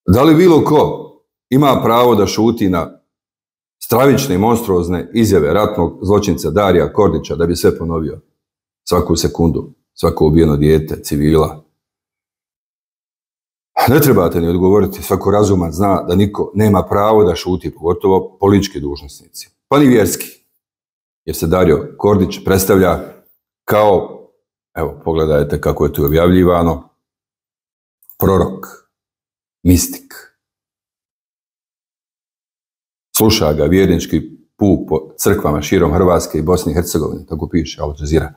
Da li bilo ko ima pravo da šuti na stravične i monstruozne izjave ratnog zločinca Darija Kordića da bi sve ponovio? Svaku sekundu, svako ubijeno dijete, civila. Ne trebate ni odgovoriti, svako razuman zna da niko nema pravo da šuti, pogotovo politički dužnosnici, pa ni vjerski. Jer se Dario Kordić predstavlja kao, evo, pogledajte kako je tu objavljivano, prorok, mistik. Sluša ga vjernički puk po crkvama širom Hrvatske i Bosne i Hercegovine, tako piše Al Jazeera.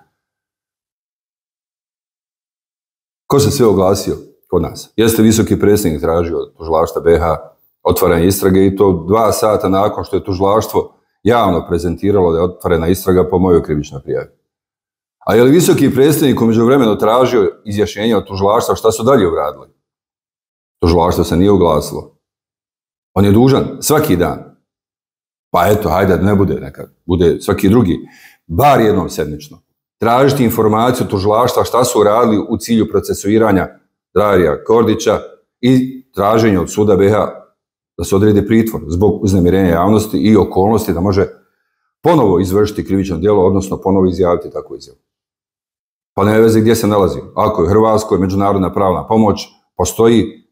Ko se sve oglasio kod nas? Jeste visoki predsjednik tražio od tužilaštva BiH otvaranje istrage i to 2 sata nakon što je tužilaštvo javno prezentiralo da je otvorena istraga po mojoj krivičnoj prijavi. A je li visoki predsjednik u međuvremenu tražio izjašnjenje od tužilaštva šta su dalje uradili? Tužilaštvo se nije oglasilo. On je dužan svaki dan. Pa eto, hajde da ne bude nekad, bude svaki drugi, bar jednom sedmično. Tražiti informaciju od tužilaštva šta su uradili u cilju procesuiranja Darija Kordića i traženje od suda BiH da se odredi pritvor zbog uznemirenja javnosti i okolnosti da može ponovo izvršiti krivično djelo, odnosno ponovo izjaviti takvu izjavu. Pa nema veze gdje se nalazi. Ako je Hrvatskoj međunarodna pravna pomoć, postoji,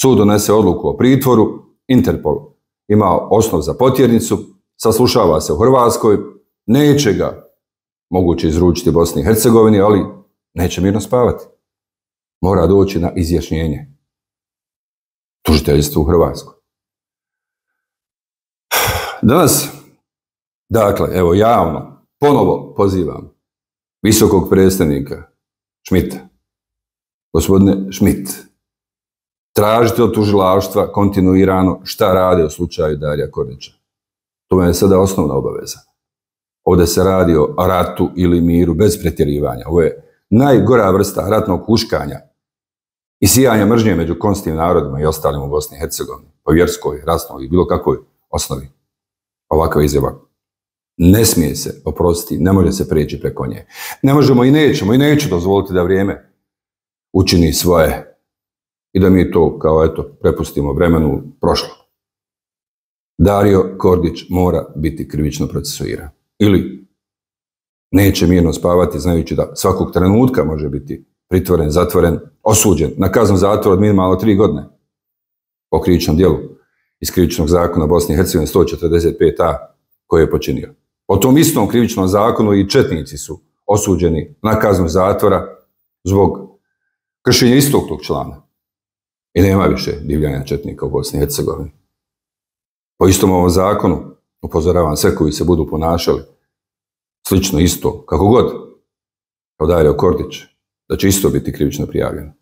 sud donese odluku o pritvoru, Interpol ima osnov za potjernicu, saslušava se u Hrvatskoj, neće ga moguće izručiti Bosni i Hercegovini, ali neće mirno spavati. Mora doći na izjašnjenje tužiteljstva u Hrvatskoj. Danas, dakle, evo javno, ponovo pozivam visokog predstavnika Šmita. Gospodine Šmit, tražite od tužilaštva kontinuirano šta rade u slučaju Darija Kordića. To je sada osnovna obaveza. Ovdje se radi o ratu ili miru bez pretjerivanja. Ovo je najgora vrsta ratnog huškanja i sijanja mržnje među konstitutivnim narodima i ostalim u Bosni i Hercegovini, po vjerskoj, rasnoj i bilo kakvoj osnovi. Ovakva izjava ne smije se oprostiti, ne može se prijeći preko nje. Ne možemo i neću dozvoliti da vrijeme učini svoje i da mi to kao eto prepustimo vremenu prošlo. Dario Kordić mora biti krivično procesuiran. Ili neće mirno spavati znajući da svakog trenutka može biti pritvoren, zatvoren, osuđen na kaznu zatvora od minimalno 3 godine po krivičnom djelu iz krivičnog zakona Bosne i Hercegovine 145a koje je počinio. Po tom istom krivičnom zakonu i četnici su osuđeni na kaznu zatvora zbog kršenja istog tog člana. I nema više divljanja četnika u Bosni i Hercegovini. Po istom ovom zakonu upozoravam sve koji se budu ponašali slično isto, kako god, kao Dario Kordić, da će isto biti krivično prijavljeno.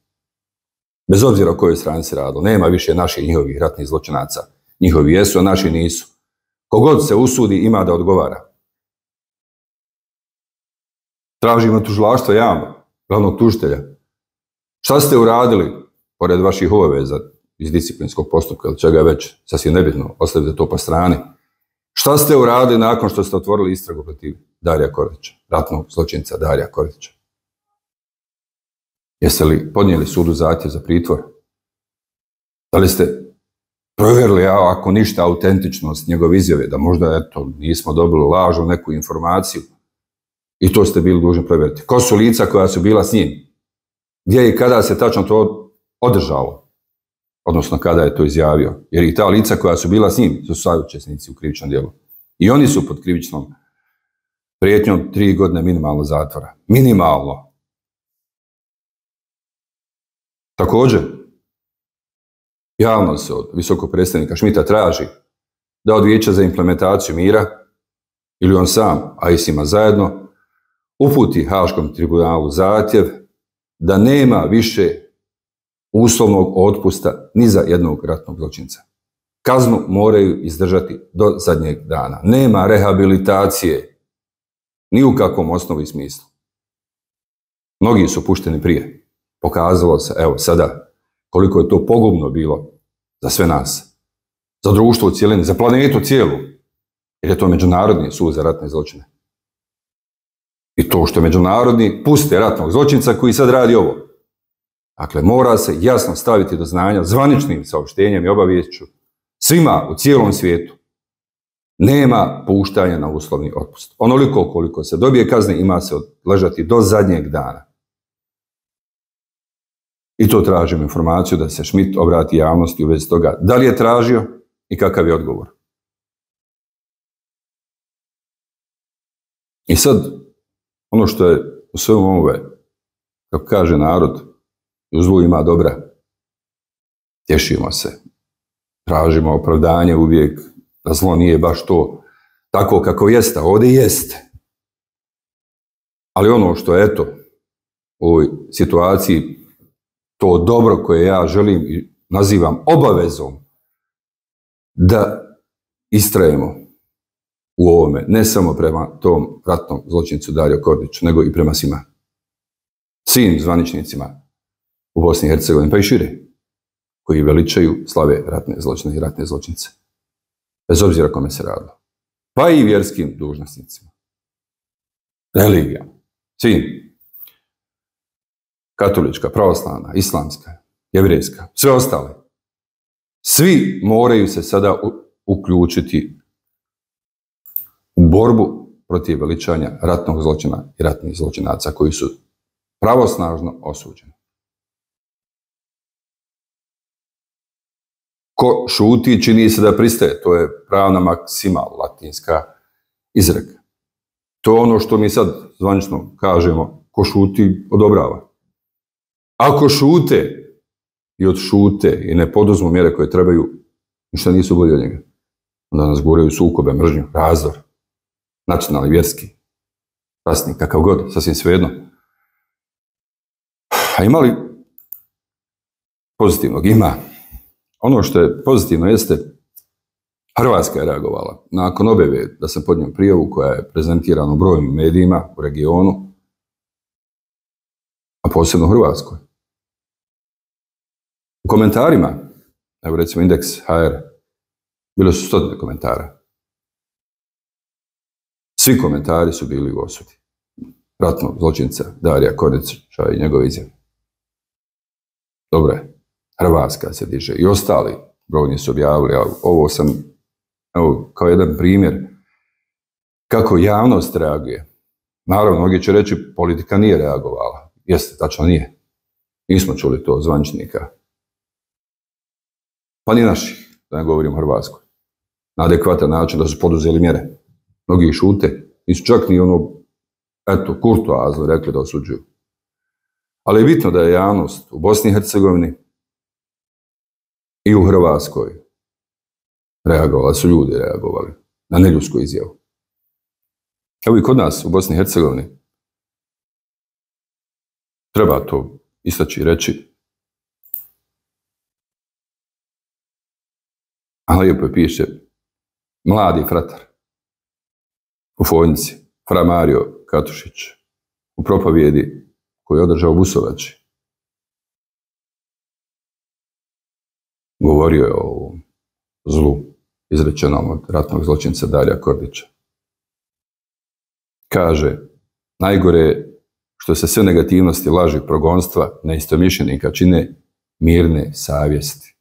Bez obzira o kojoj strani se radilo, nema više naših njihovih ratnih zločinaca. Njihovi jesu, a naši nisu. Kogod se usudi ima da odgovara. Tražimo tužilaštvo javno, glavnog tužitelja. Šta ste uradili, pored vaših obaveza iz disciplinskog postupka ili čega već, sasvim nebitno, ostavite to po strani. Šta ste uradili nakon što ste otvorili istragu protiv Darija Kordića, ratnog zločinca Darija Kordića? Jeste li podnijeli sudu zahtjev za pritvor? Da li ste provjerili, ako ništa, autentičnost njegove izjave, da možda, eto, nismo dobili lažnu neku informaciju i to ste bili dužni provjeriti? Ko su lica koja su bila s njim? Gdje i kada se tačno to održalo? Odnosno, kada je to izjavio? Jer i ta lica koja su bila s njim su saučesnici u krivičnom djelu. I oni su pod krivičnom prijetnjom 3 godine minimalno zatvora. Minimalno. Također, javno se od visokog predstavnika Šmita traži da od Vijeća za implementaciju mira ili on sam, a i s njima zajedno, uputi Haškom tribunalu zahtjev da nema više uslovnog otpusta ni za jednog ratnog zločinca. Kaznu moraju izdržati do zadnjeg dana. Nema rehabilitacije ni u kakvom osnovu i smislu. Mnogi su pušteni prije. Pokazalo se, evo sada, koliko je to pogubno bilo za sve nas, za društvo u cijelini, za planetu cijelu, jer je to Međunarodni sud za ratne zločine. I to što je međunarodni puste ratnog zločinca koji sad radi ovo. Dakle, mora se jasno staviti do znanja zvaničnim saopštenjem i obaviješću svima u cijelom svijetu. Nema puštanja na uslovni otpust. Onoliko koliko se dobije kazne ima se odležati do zadnjeg dana. I to tražim informaciju da se Schmidt obrati javnosti u vezi toga da li je tražio i kakav je odgovor. I sad, ono što je u svemu ovome, kako kaže narod, u zlu ima dobra. Tješimo se. Tražimo opravdanje uvijek da zlo nije baš to tako kako jeste, ovdje jeste. Ali ono što je, eto, u ovoj situaciji, to dobro koje ja želim i nazivam obavezom da istrajemo u ovome, ne samo prema tom ratnom zločincu Dario Kordiću, nego i prema svima. Svim zvaničnicima u Bosni i Hercegovini, pa i šire, koji veličaju, slave ratne zločine i ratne zločince. Bez obzira kome se radilo. Pa i vjerskim dužnosnicima. Religija. Svim. Katolička, pravoslavna, islamska, jevrejska, sve ostale. Svi moraju se sada uključiti u borbu protiv veličanja ratnog zločina i ratnih zločinaca koji su pravosnažno osuđeni. Ko šuti, čini se da pristaje. To je pravna maksima, latinska izreka. To je ono što mi sad zvanično kažemo, ko šuti, odobrava. Ako šute i odšute i ne poduzmu mjere koje trebaju, ništa nisu bolji od njega. Onda nas guraju sukobe, mržnju, razdor, nacionalni, vjerski, rasni, kakav god, sasvim svejedno. A ima li pozitivnog? Ima. Ono što je pozitivno jeste, Hrvatska je reagovala. Nakon objave da sam podnio prijavu koja je prezentirana u brojnim medijima u regionu, a posebno u Hrvatskoj. U komentarima, evo recimo Indeks.hr, bilo su 100 komentara. Svi komentari su bili u osudi ratnog zločinca Darija Kordića i njegove izjave. Dobro je, Hrvatska se diže i ostali brojni su objavili, a ovo sam, evo, kao jedan primjer kako javnost reaguje. Naravno, mnogi će reći, politika nije reagovala. Jeste, tačno nije. Nismo čuli to od zvaničnika. Pa ni naših, da ne govorim o Hrvatskoj. Na adekvatan način da su poduzeli mjere. Mnogi šute, nisu čak ni ono, eto, kurtoazno rekli da osuđuju. Ali je bitno da je javnost u Bosni i Hercegovini i u Hrvatskoj reagovala, su ljudi reagovali na neljudsku izjavu. Evo i kod nas u Bosni i Hercegovini treba to istaći i reći. A lijepo je piše mladi fratar u Fojnici, fra Mario Katušić, u propovjedi koju je održao u Busovači. Govorio je o ovom zlu izrečenom od ratnog zločinca Darija Kordića. Kaže, najgore je što se sve negativnosti, laži, progonstva, neistomišljenika čine mirne savjesti.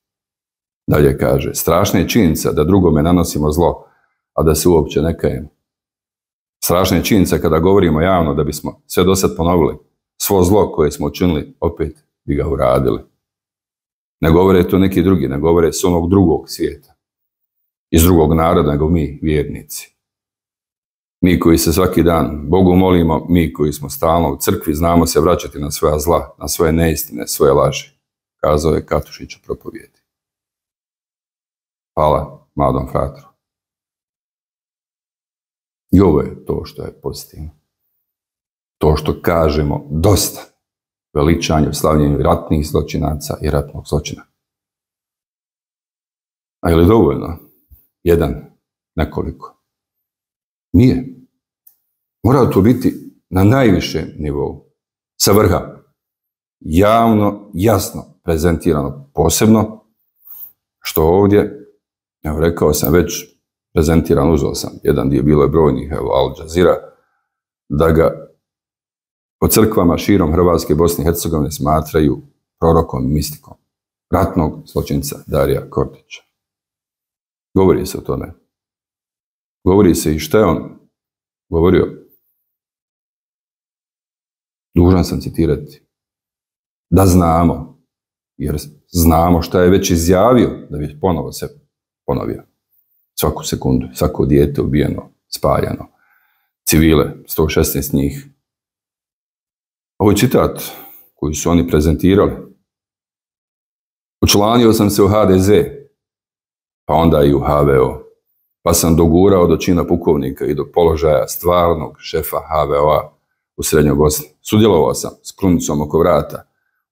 Dalje kaže, strašna je činjenica da drugome nanosimo zlo, a da se uopće ne kajemo. Strašna je činjenica kada govorimo javno da bismo sve do sad ponovili, svo zlo koje smo učinili, opet bi ga uradili. Ne govore to neki drugi, ne govore s onog drugog svijeta, iz drugog naroda, nego mi, vjernici. Mi koji se svaki dan Bogu molimo, mi koji smo stalno u crkvi, znamo se vraćati na svoja zla, na svoje neistine, svoje laži, kazao je Katušić u propovjedi. Hvala mladom fratru. I ovo je to što je pozitivno. To što kažemo dosta veličanju, slavljenju ratnih zločinaca i ratnog zločina. A je li dovoljno? Jedan, nekoliko. Nije. Mora to biti na najvišem nivou, sa vrha. Javno, jasno prezentirano, posebno, što ovdje, evo rekao sam već, prezentiran, uzeo sam jedan dio, bilo je brojnih, evo Al Jazeera, da ga po crkvama širom Hrvatske i Bosne i Hercegovine smatraju prorokom i mistikom ratnog zločinca Darija Kordića. Govori se o tome. Govori se i šta je on govorio. Dužan sam citirati. Da znamo, jer znamo šta je već izjavio, da bi ponovo se ponovio. Svaku sekundu, svako dijete ubijeno, spaljano, civile, 116 njih. Ovo je citat koji su oni prezentirali. Učlanio sam se u HDZ, pa onda i u HVO, pa sam dogurao do čina pukovnika i do položaja stvarnog šefa HVO-a u Srednjoj Bosni. Sudjelovao sam s krunicom oko vrata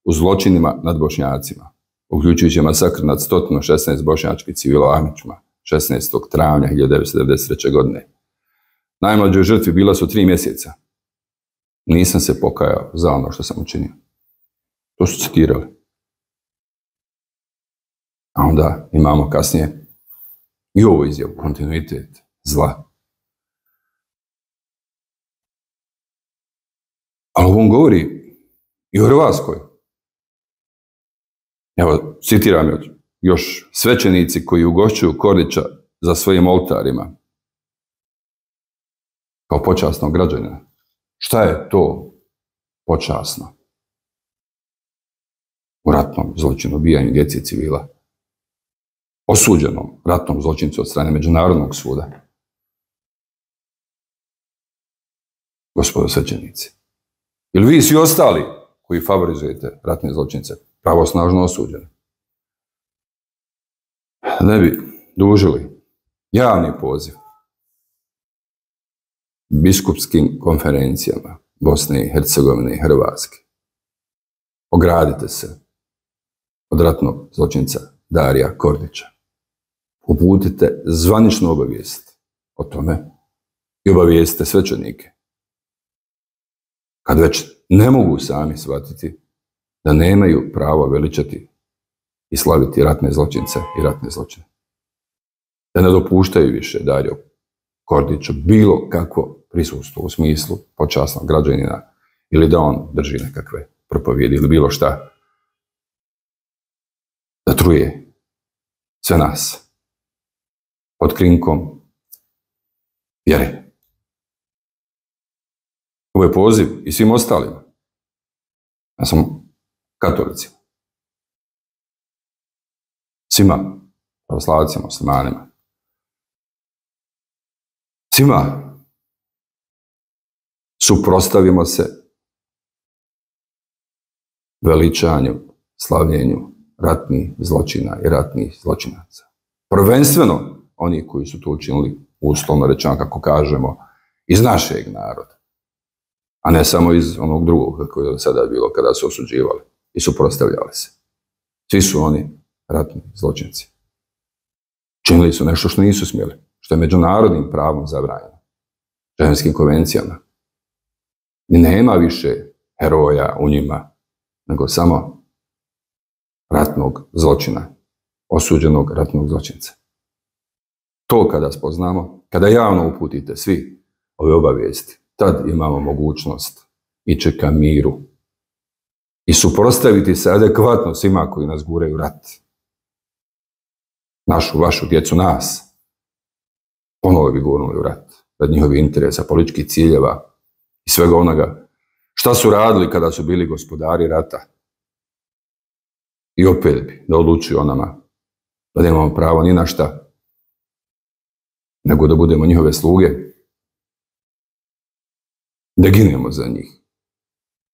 u zločinima nad Bošnjacima, uključujući masakr nad 116 bošnjačkih civila u Ahmićima 16. travnja 1993. godine. Najmlađoj žrtvi bila su 3 mjeseca. Nisam se pokajao za ono što sam učinio. To su citirali. A onda imamo kasnije i ovu izjavu, kontinuitet zla. Ali on govori i o Hrvatskoj. Evo, citiram još svećenici koji ugošćuju Kordića za svojim oltarima kao počasnog građanina. Šta je to počasno? U ratnom zločinu ubijanja djece i civila. Osuđenom ratnom zločincu od strane Međunarodnog suda. Gospodo svećenici. Ili vi svi ostali koji favorizujete ratne zločince pravosnažno osuđeni? Ne bi dužili javni poziv biskupskim konferencijama Bosne i Hercegovine i Hrvatske. Ogradite se od ratnog zločinca Darija Kordića. Uputite zvaničnu obavijest o tome i obavijestite svećenike. Kad već ne mogu sami shvatiti da nemaju pravo veličati i slaviti ratne zločince i ratne zločine. Da ne dopuštaju više Dariju Kordiću bilo kakvo prisustvo u smislu počasnog građanina ili da on drži nekakve propovjedi ili bilo šta. Da truje sve nas pod krinkom vjere. Ovo je poziv i svim ostalima. Ja sam katolicima. Svima, pravoslavcima, muslimanima. Svima suprotstavimo se veličanju, slavljenju ratnih zločina i ratnih zločinaca. Prvenstveno oni koji su to učinili, uslovno rečeno, kako kažemo, iz našeg naroda, a ne samo iz onog drugog, kako je sada bilo kada su osuđivali i suprotstavljali se. Svi su oni ratni zločinci. Činili su nešto što nisu smjeli, što je međunarodnim pravom zabranjeno, ženevskim konvencijama. I nema više heroja u njima, nego samo ratnog zločina, osuđenog ratnog zločinca. To kada spoznamo, kada javno uputite svi ove obavijesti, tad imamo mogućnost ići ka miru i suprotstaviti se adekvatno svima koji nas guraju u rat. Našu, vašu djecu, nas. Ponovo bi gurnuli u rat, rad njihovih interesa, političkih ciljeva i svega onoga. Šta su radili kada su bili gospodari rata? I opet bi da odlučuju o nama, da nemamo pravo ni na šta, nego da budemo njihove sluge, da ginemo za njih,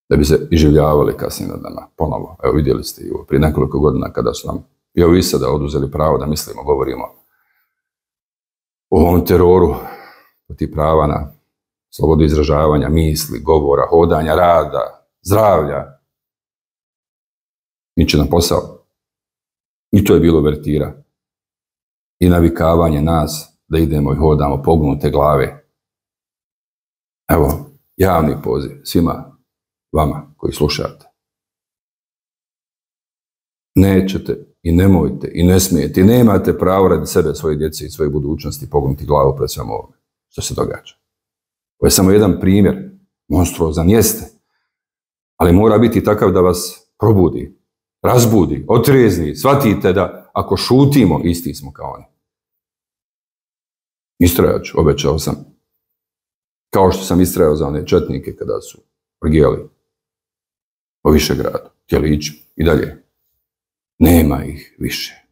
da bi se iživljavali kasnije nad nama, ponovo. Evo vidjeli ste i prije nekoliko godina kada su nam, evo i sada, oduzeli pravo da mislimo, govorimo o ovom teroru protiv prava na slobodu izražavanja, misli, govora, hodanja, rada, zdravlja. Niče nam posao. I to je bilo vertira. I navikavanje nas da idemo i hodamo pognute glave. Evo, javni poziv svima vama koji slušate. Nećete i nemojte i ne smijete i nemate pravo radi sebe, svoje djece i svoje budućnosti pognuti glavu pred svemu ovome što se događa. Ovo je samo jedan primjer, monstruozan jeste, ali mora biti takav da vas probudi, razbudi, otrezni, shvatite da ako šutimo, isti smo kao oni. Istrajat ću, obećao sam. Kao što sam istrajao za one četnike kada su orgijali po Višegradu, htjeli ići i dalje. Nema ih više.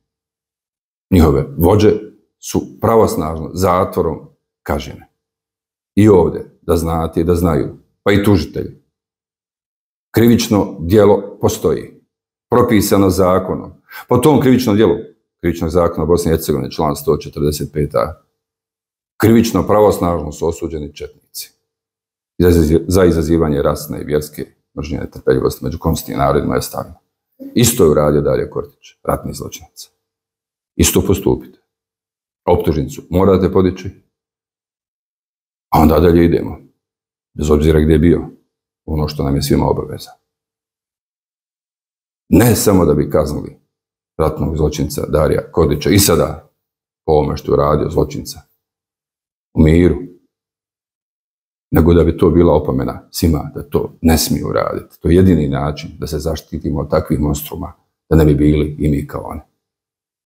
Njihove vođe su pravosnažno zatvorom kažnjene. I ovdje, da znate i da znaju, pa i tužitelji. Krivično djelo postoji, propisano zakonom. Po tom krivičnom djelu, krivičnog zakona Bosne i Hercegovine, član 145a, krivično pravosnažno su osuđeni četnici za izazivanje rasne i vjerske mržnje i netrpeljivosti među konstitutivnim narodima i ostalima. Isto je uradio Dario Kortić, ratni zločinac. Isto postupite. Optužnicu morate podići, a onda dalje idemo. Bez obzira gdje je bio. Ono što nam je svima obaveza. Ne samo da bi kaznili ratnog zločinca Darija Kortića i sada po ovome što je uradio zločinca u miru, nego da bi to bila opomena svima da to ne smiju raditi. To je jedini način da se zaštitimo od takvih monstruma, da ne bi bili i mi kao oni.